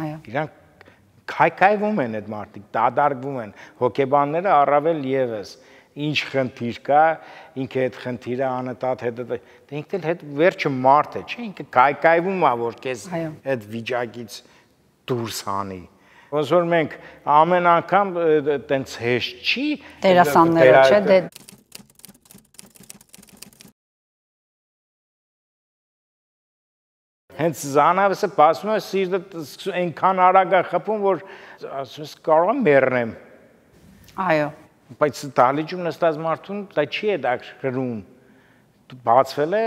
Այո։ Իրանք քայքայվում են այդ մարդիկ, դադարվում են, հոգեբանները առավել եւս ինչ խնդիր կա, ինքը այդ խնդիրը անընդհատ հետը, դե ինքն էլ հետ վերջը մարդ է, չէ՞, ինքը կայկայվում է, որ քեզ այդ վիճակից դուրս հանի։ Ոնց որ մենք ամեն անգամ տենց հեշտ չի դերասանները, չէ՞, դե հենց զանավսը pasում է սիրտը այնքան արագ է խփում, որ ասում ես կարող եմ մեռնեմ։ Այո։ Բայց դալիճում նստած մարդուն դա չի է դա գրում։ Դու բացվել է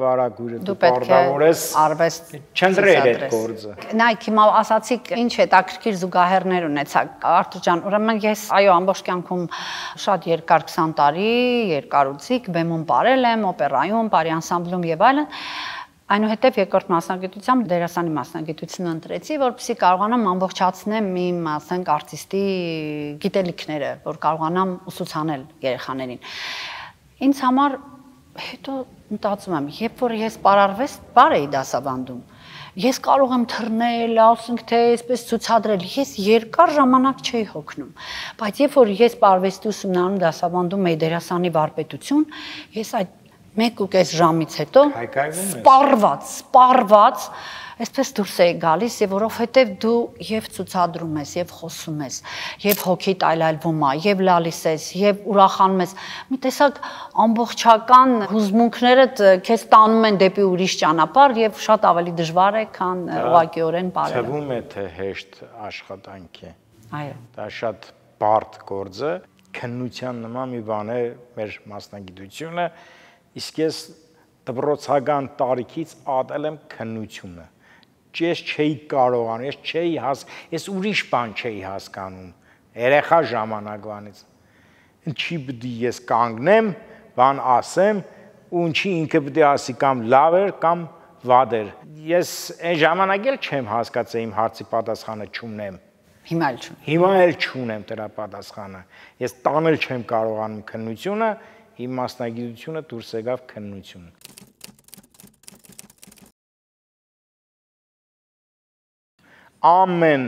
վարագույրը, դու պարտավորես արվեստ չընտրել այդ գործը։ Նայեք, հիմա ասացիք, ինչ հետաքրքիր զուգահեռներ ունեցաք, Արտուր ջան, ուրեմն ես այո ամբողջ կյանքում շատ երկար 20 տարի երկարուցիկ բեմում ապրել եմ, օպերայում, բարի անսամբլում եւ այլն։ Այնուհետև երկրորդ մասնագիտությամբ դերասանի մասնագիտությունը ընտրեցի, որպեսզի կարողանամ ամբողջացնեմ իմ, ասենք, արտիստի գիտելիքները, որ կարողանամ ուսուցանել երեխաներին։ Ինձ համար հետո մտածում եմ, երբ որ ես պարարվեստ էի դասավանդում, ես կարող եմ թռնել, ասենք թե այսպես ցուցադրել, ես երկար ժամանակ չէի հոգնում, բայց երբ որ ես պարարվեստի ուսումնարանում դասավանդում էի դերասանի վարպետություն, ես այդ 1.5 ժամից հետո սպառված, այսպես դուրս էի գալիս եւ որովհետեւ դու եւ ցուցադրում ես եւ խոսում ես եւ հոգիդ այլայլվում է եւ լալիս ես եւ ուրախանում ես մի տեսակ ամբողջական հուզմունքներդ քեզ տանում են դեպի ուրիշ ճանապարհ եւ շատ ավելի դժվար է քան ուղղակիորեն բարելը թվում է թե հեշտ աշխատանք է այո դա շատ բարդ գործ է քննության նման մի բան է մեր մասնագիտությունը իսկ ես դպրոցական տարիքից ատել եմ քննությունը ես չէի կարողանում, ես ուրիշ բան չէի հասկանում, երեխա ժամանակվանից, ինչի պիտի ես կանգնեմ, բան ասեմ, ու ինչի ինքը պիտի ասի կամ լավ էր, կամ վատ էր, ես այն ժամանակ էլ չեմ հասկացել իմ հարցի պատասխանը չունեմ, հիմա էլ չունեմ դրա պատասխանը, ես տանել չեմ կարողանում քննությունը, իմ մասնագիտությունը դուրս եկավ քննությունը ամեն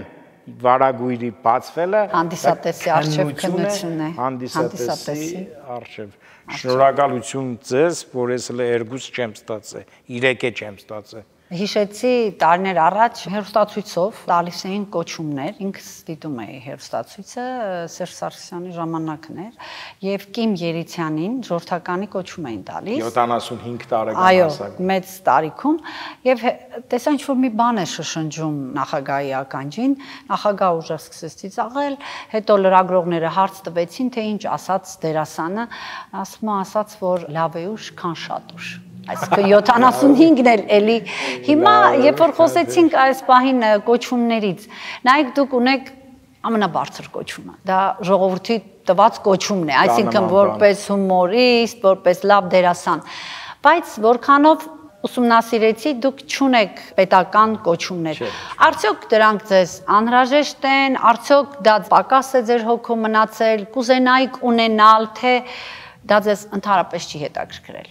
վարագույրի բացվելը հանդիսատեսի արժև քննությունն է հանդիսատեսի արժև շնորհակալություն ձեզ որ ես էլ 2 չեմ ստացել 3 չեմ ստացել Հիշեցի տարիներ առաջ հեռուստացույցով տալիս էին կոչումներ, ինքս դիտում էի հեռուստացույցը, Սերժ Սարգսյանի ժամանակն էր, եւ Կիմ Երիցյանին ժողովրդականի կոչում էին տալիս 75 տարեկան հասակում։ Այո, մեծ տարիքում եւ տեսա ինչ որ մի բան է շշնջում նախագահի ականջին, նախագահը ուժեղ սկսեց ծիծաղել, հետո լրագրողները հարց տվեցին, թե ինչ ասաց դերասանը, ասում ասաց, որ լավ է ուշ, քան շատ ուշ։ Այսինքն 75-ն էլ էլի։ Հիմա երբ որ խոսեցինք այս պահին կոչումներից, նայեք դուք ունեք ամենաբարձր կոչումը։ Դա ժողովրդի տված կոչումն է, այսինքն որպես հումորիստ, որպես լավ դերասան։ Բայց որքանով ուսումնասիրեցի, դուք չունեք պետական կոչումներ։ Արդյոք դրանք ձեզ անհրաժեշտ են, արդյոք դա պակաս է ձեր հոգում մնացել, կուզենայիք ունենալ, թե դա ձեզ ընդհանրապես չի հետաքրքրել։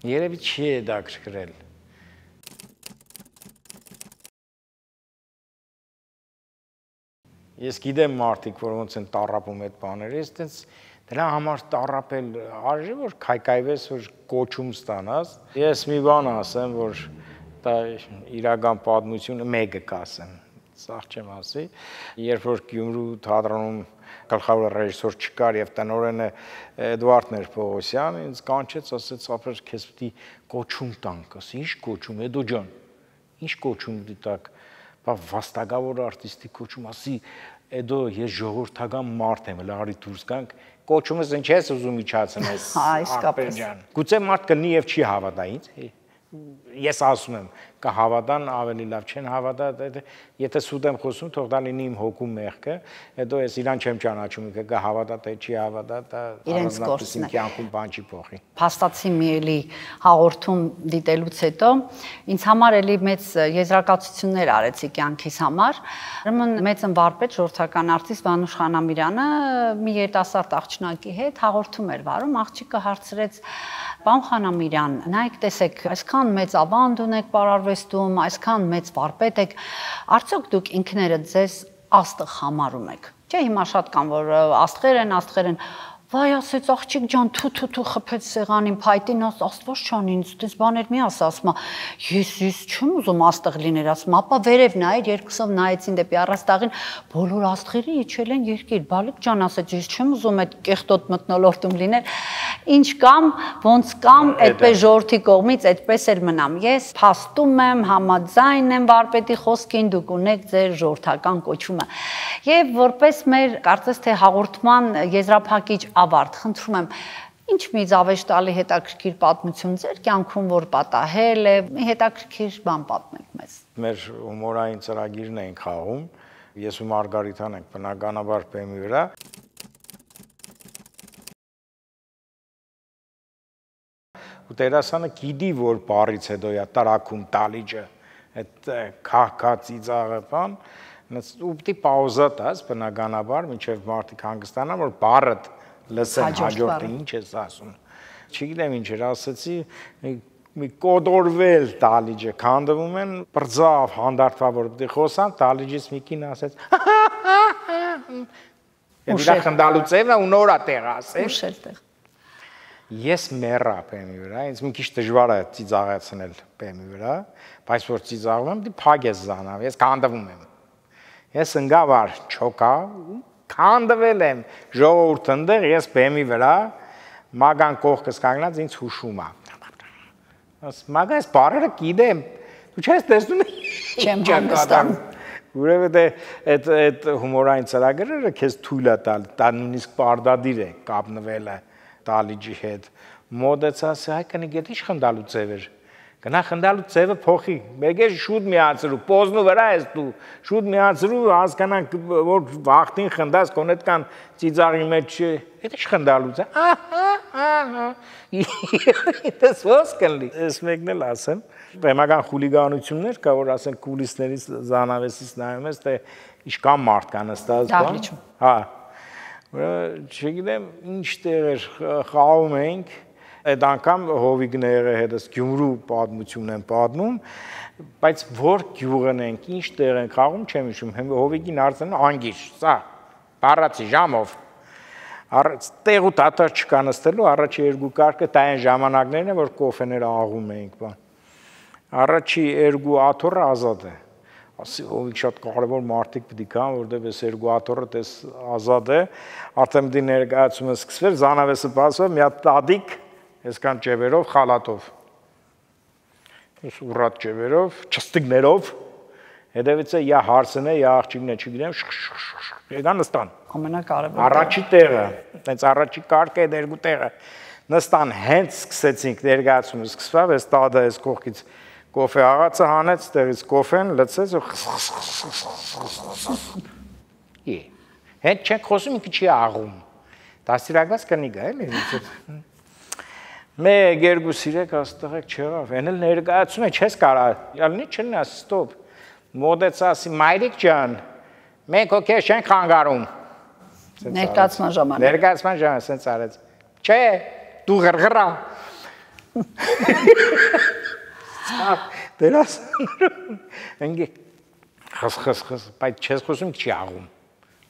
Երևի չի հետաքրքրել։ Ես գիտեմ մարդիկ, որ ոնց են տառապում այդ բաներից, այդպես դրա համար տառապել արժի, որ քայքայվես, որ կոչում ստանաս։ Ես մի բան ասեմ, որ դա իրական պատմությունը մեկը կասեմ, սաղ չեմ ասի, երբ որ Գյումրու թատրոնում գլխավոր ռեժիսոր չկար եւ տնօրենը Էդվարդ Պողոսյան, ինձ կանչեց, ասեց, ապեր քեզ պիտի կոչում տանք, ասի, ի՞նչ կոչում, Էդո ջան, ի՞նչ կոչում դի տակ, բա վաստակավոր արտիստի կոչում, ասի, Էդո ես ժողովրդական մարդ եմ, լարի դուրս գանք, կոչումս ինչ ես ուզում իջացնես, Արտեր ջան։ Գուցե մարդ կլինի եւ չի հավատա ինձ։ Ես ասում եմ, կհավատան, ավելի լավ չեն հավատա, եթե սուտ եմ խոսում, թող դա լինի իմ հոգու մեղքը, հետո ես իրան չեմ ճանաչում, կհավատա, թե չի հավատա, դա առանձնապես կյանքում բան չի փոխի։ Փաստացի մի էլի հաղորդում դիտելուց հետո ինձ համար էլի մեծ եզրակացություններ արեցի կյանքիս համար։ Ուրեմն մեծ վարպետ, ժողովրդական արտիստ Վանուշ Խանամիրյանը մի երիտասարդ աղջնակի հետ հաղորդում էր վարում, աղջիկը հարցրեց. Պարոն Խանամիրյան, նայեք, տեսեք, այսքան մեծ ավանդ ունեք պարարվեստում, այսքան մեծ վարպետ եք, արդյոք դուք ինքներդ ձեզ աստղ համարում եք։ Չէ, հիմա շատ կան, որ աստղեր են, վայ, ասեց աղջիկ ջան, թու խփեց սեղանին, փայտին, աստված չան ինձ, դες բաներ մի ասում, ես չեմ ուզում աստղ լիներ, ասում, ապա վերև նայր, երկուսով նայեցին դեպի առաստաղին, բոլոր աստղերը իջել են երկիր, բալիկ ջան, ասեց, ես չեմ ուզում այդ կեղտոտ մթնոլորտում լինել, ինչ կամ, ոնց կամ, այդպես ժողովրդի կողմից այդպես էլ մնամ։ Ես փաստում եմ, համաձայն եմ վարպետի խոսքին, դուք ունեք ձեր ժողովրդական կոչումը։ Եվ որպես մեր կարծես թե հաղորդման եզրափակիչ ավարտ, խնդրում եմ, ինչ մի զավեշտալի հետաքրքիր պատմություն ձեր կյանքում, որ պատահել է, մի հետաքրքիր բան պատմեք մեզ։ Մեր հումորային ծրագիրն ենք խաղում, ես ու Մարգարիթան ենք բնականաբար բեմի վրա։ Ու դերասանը գիտի, որ բառից հետո է տարակում տալիջը, այդ քահքա ծիծաղը բան, ու պիտի պաուզա տաս բնականաբար, մինչև մարդիկ հանգստանան, որ բառդ լսեն հաջորդը ինչ ես ասում։ Չգիտեմ ինչ էր, ասեցի, մի կոդորվել տալիջը, քանդվում են, բրձավ, հանդարտվա, որ պիտի խոսան, տալիջից մի կին ասեց, և իրա խնդալու ծևն ու նորա տեղ ասեց։ Ուշել տեղ։ Ես մեռա բեմի վրա, ինձ մի քիչ դժվար է ծիծաղացնել բեմի վրա, բայց որ ծիծաղում եմ, դի փակ ես զանավ, ես քանդվում եմ։ Ես ընկավար չոկա, քանդվել եմ, ժողովուրդ ընդեղ, ես բեմի վրա, մագան կողքս կանգնած ինձ հուշում է։ Մագա ես բառերը գիտեմ, դու չես տեսնում չեմ հանգստանում։ Որովհետև այդ հումորային ծրագրերը քեզ թույլ է տալ, դա նույնիսկ պարտադիր է կապնվելը տալիջի հետ, մոդեցա, ասա, հայ կնի գետ ինչ խնդալու ծև էր, գնա խնդալու ծևը փոխի, մեկ է շուտ միացրու, պոզնու վրա ես դու, շուտ միացրու, հասկանանք, որ վաղտին խնդաս, կոնետ կան ծիծաղի մեջ, այդ ինչ խնդալու ծև, դες ոնց կլինի, ես մեկն էլ ասեմ, բեմական խուլիգանություններ կա, որ ասեն կուլիսներից զանավեսից նայում ես, թե ինչքան մարդ կա նստած Դահլիճում։ Հա, չգիտեմ ինչ տեղեր խաղում էինք, այդ անգամ հովիգները հետս Գյումրու պատմություն են պատմում, բայց որ գյուղն ենք, ինչ տեղ ենք խաղում, չեմ հիշում, հովիգին արձան անգիշ, սա, բառացի ժամով, տեղ ու տատար չկա նստելու, առաջի երկու կարգը դա այն ժամանակներն են, որ կոֆեները աղում էինք, առաջի երկու աթոռը ազատ է, հովիգ շատ կարևոր մարդիկ պիտի կան, որտև ես երկու աթոռը տես ազատ է, արդեն պիտի ներկայացումը սկսվեր, զանավեսը բացվեր, մի հատ տադիկ, այսքան ճևերով, խալատով, ուռատ ճևերով, չստիգներով, հետևից է յա հարսն է, յա աղջիկն է, չգիտեմ, եկան նստան։ Ամենակարևորը։ Առաջի տեղը, տենց առաջի կարգը այդ երկու տեղը, նստան հենց սկսեցինք ներկայացումը սկսվավ, այս տադը այս կողքից կոֆե աղացը հանեց, տեղից կոֆեն լցեց ու հենց չենք խոսում, ինքը չի աղում, դաստիարակված կնիկ է, էլի, մեկ, երկու սիրեք, աստղեք չեղավ, են էլ ներկայացում է, չես կարա, յալնի չնա, ստոպ, մոդեց ասի, մայրիկ ջան, մենք հոգեր չենք խանգարում, ներկայացման ժամանակ, ներկայացման ժամանակ, սենց արեց, չէ, դու գրգրա, դերասանրում, ընգի, խս, բայց չես խոսում չի աղում,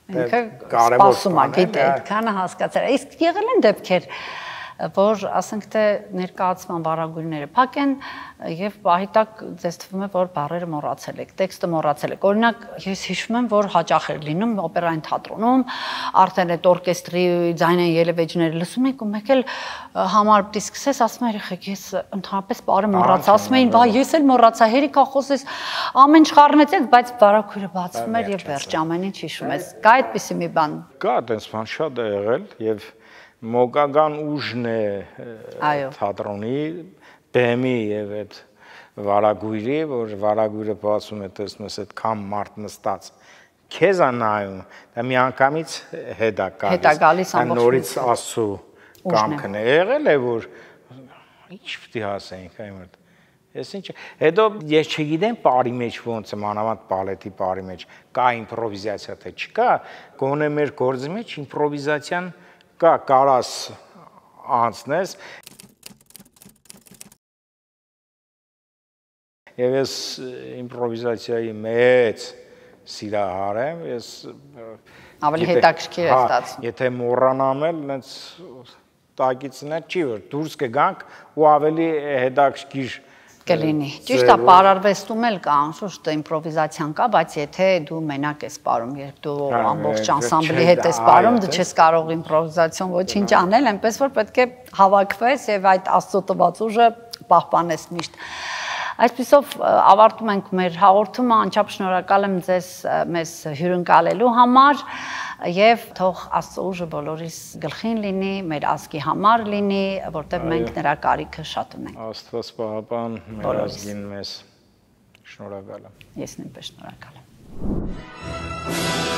ինքը սպասում է, գիտե, այդքանը հասկացել, իսկ եղել են դեպքեր, որ ասենք թե ներկայացման վարագույրները փակ են եւ պահի տակ ձեզ թվում է որ բառերը մոռացել եք, տեքստը մոռացել եք։ Օրինակ ես հիշում եմ որ հաճախ էր լինում օպերային թատրոնում, արդեն այդ օրկեստրի ձայնային ելևէջները լսում եք ու մեկ էլ համար պիտի սկսես ասում երեխեք ես ընդհանրապես բառը մոռացա, ասում էին, բա ես էլ մոռացա, հերիքա խոսես, ամեն ինչ խառնեցեք, բայց վարագույրը բացվում էր եւ վերջ ամեն ինչ հիշում ես։ Կա այդպիսի մի բան։ Կա այդպես բան շատ է եղել եւ մոգական ուժն է թատրոնի, բեմի եւ այդ վարագույրի, որ վարագույրը բացում է տեսնում ես այդքան մարդ նստած քեզ է նայում, դա մի անգամից հետա գալիս, նորից ասու կամքն է եղել է որ ինչ պիտի ասենք այմդ ես ինչ հետո ես չգիտեմ բարի մեջ ոնց է մանավանդ բալետի բարի մեջ կա իմպրովիզացիա թե չկա գոնե մեր գործի մեջ իմպրովիզացիան կա կարաս անցնես եւ ես իմպրովիզացիայի մեծ սիրահար եմ ես ավելի հետաքրքիր է ստացվում եթե մոռանամ էլ այնց տակիցն է չի որ դուրս կգանք ու ավելի հետաքրքիր կլինի։ Ճիշտ է, պարարվեստում էլ կա, անշուշտ իմպրովիզացիան կա, բայց եթե դու մենակ ես պարում, երբ դու ամբողջ անսամբլի հետ ես պարում, դու չես կարող իմպրովիզացիոն ոչինչ անել, այնպես որ պետք է հավաքվես եւ այդ աստծո տված ուժը պահպանես միշտ։ Այսպիսով ավարտում ենք մեր հաղորդումը, անչափ շնորհակալ եմ ձեզ մեզ հյուրընկալելու համար եւ թող աստծո ուժը բոլորիս գլխին լինի, մեր ազգի համար լինի, որտեղ մենք նրա կարիքը շատ ունենք։ Աստված պահապան մեր ազգին մեզ շնորհակալ եմ։ Ես նույնպես շնորհակալ եմ։